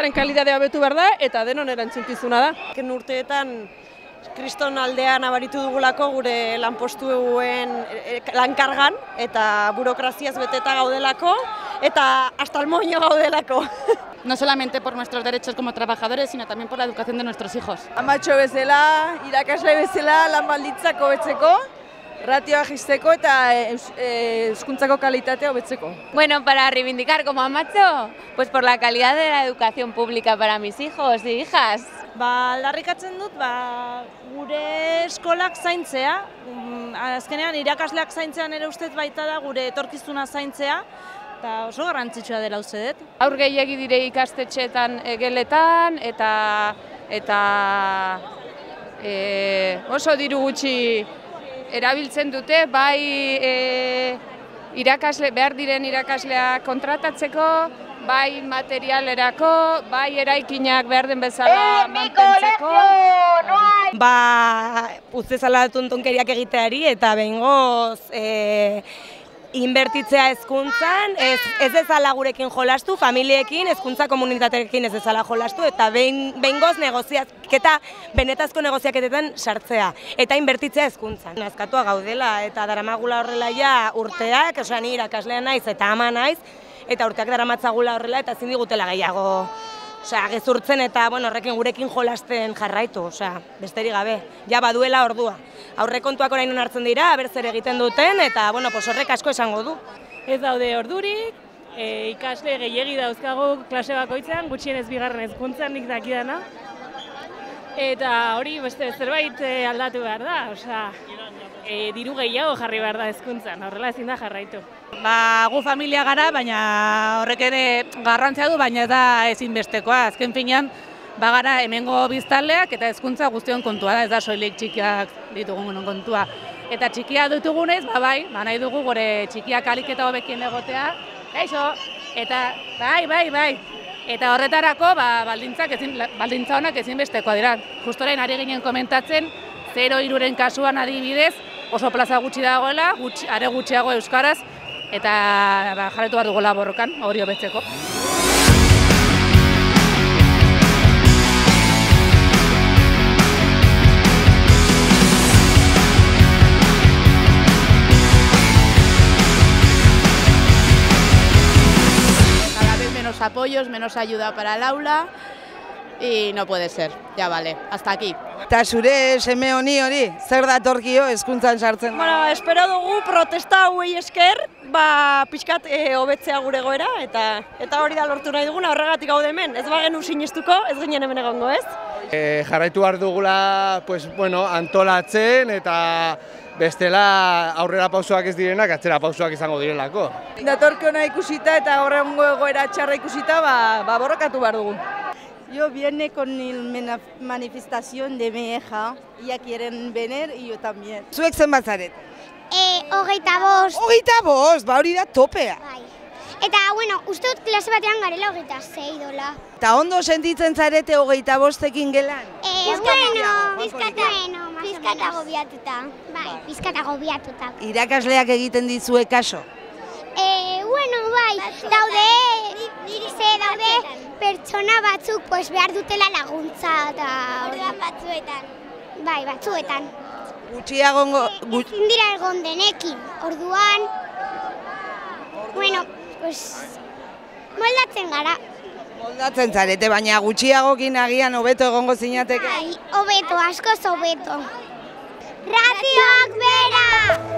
hezkuntzaren kalitatea hobetu behar da eta denon erantzukizuna da. Azken urteetan kriston aldea nabaritu dugulako gure lanpostuen lankargan eta burokraziaz beteta gaudelako eta hasta el moño gaudelako. No solamente por nuestros derechos como trabajadores, sino también por la educación de nuestros hijos. Amatxo bezala, irakasle bezala lan baldintzak hobetzeko, ratioa jisteko eta hezkuntzako kalitatea hobetzeko. Bueno, para reivindicar como Amatxo, pues por la calidad de la educación pública para mis hijos y hijas. Aldarrikatzen dut, gure eskolak zaintzea, azkenean irakasleak zaintzean ere ustez baita da gure etorkizuna zaintzea, eta oso garrantzitsua dela uste dut. Haur gehiegi dire ikastetxeetan geletan eta oso diru gutxi erabiltzen dute, bai behar diren irakasleak kontratatzeko, bai materialerako, bai eraikinak behar den bezala mantentzeko. Ustezala tontonkeriak egiteari eta behingoz inbertitzea hezkuntzan, ez dezala gurekin jolastu, familiekin, hezkuntza komunitateekin ez dezala jolastu, eta behingoz negoziaketa, benetazko negoziaketetan sartzea, eta inbertitzea hezkuntzan. Nazkatua gaudela eta daramagula horrela ja urteak, ni irakaslea naiz eta ama naiz, eta urteak daramatzagula horrela eta ezin digutela gehiago gezurtzen eta horrekin gurekin jolasten jarraitu, besterik gabe, ja baduela ordua. Aurrekontuak orain hartzen dira, zer egiten duten, eta horrek asko esango du. Ez daude ordurik, ikasle gehiegi dauzkagu klase bakoitzean, gutxienez bigarren hezkuntzan nik dakidana. Eta hori beste zerbait aldatu behar da, diru gehiago jarri behar da hezkuntzan, horrela ezin da jarraitu. Gu familia gara, baina horrek ere garrantzia du, baina ez da ezinbestekoa. Azken finean, bagara hemengo biztanleak eta hezkuntza guztion kontua da, ez da soilik txikiak ditugun kontua. Eta txikia ditugunez, nahi dugu gure txikiak ahalik eta hobekien egotea, eta bai. Eta horretarako baldintza honak ezinbestekoa dira. Justo orain ari ginen komentatzen, 0-3-ren kasuan adibidez, oso plaza gutxi dagoela, are gutxiago euskaraz, eta jarraitu behar dugu borrokan, hori hobetzeko. Cada vez menos apoyos, menos ayuda para el aula, y no puede ser, ya vale, hasta aquí. Eta zure seme honi zer datorkio hezkuntzan sartzen da? Espero dugu protesta hauei esker, pixkat hobetzea gure goera, eta hori da lortu nahi duguna, horregatik gaude hemen. Ez bagenu sinestuko, ez ginen hemen egongo, ez? Jarraitu behar dugula antolatzen eta bestela aurrera pausoak ez direnak, atzera pausoak izango direlako. Datorkiona ikusita eta horrengo egoera txarra ikusita, borrokatu behar dugu. Yo viene con la manifestación de mi hija, ella quieren venir y yo también. Zuek zenbat zaret? 25. 25, hori da topea. Eta, uste dut klase batean garela 26 dola. Eta ondo sentitzen zarete 25ekin gelan? Pizkat agobiatuta. Pizkat agobiatuta. Irakasleak egiten dizue kaso? Daude pertsona batzuk behar dutela laguntza eta orduan batzuetan. Batzuetan. Gutxiago... Ezin dira egon denekin, orduan... moldatzen gara. Moldatzen zarete, baina gutxiagokin agian hobeto egongo zinateke? Hobeto, askoz hobeto. Ratioak bera!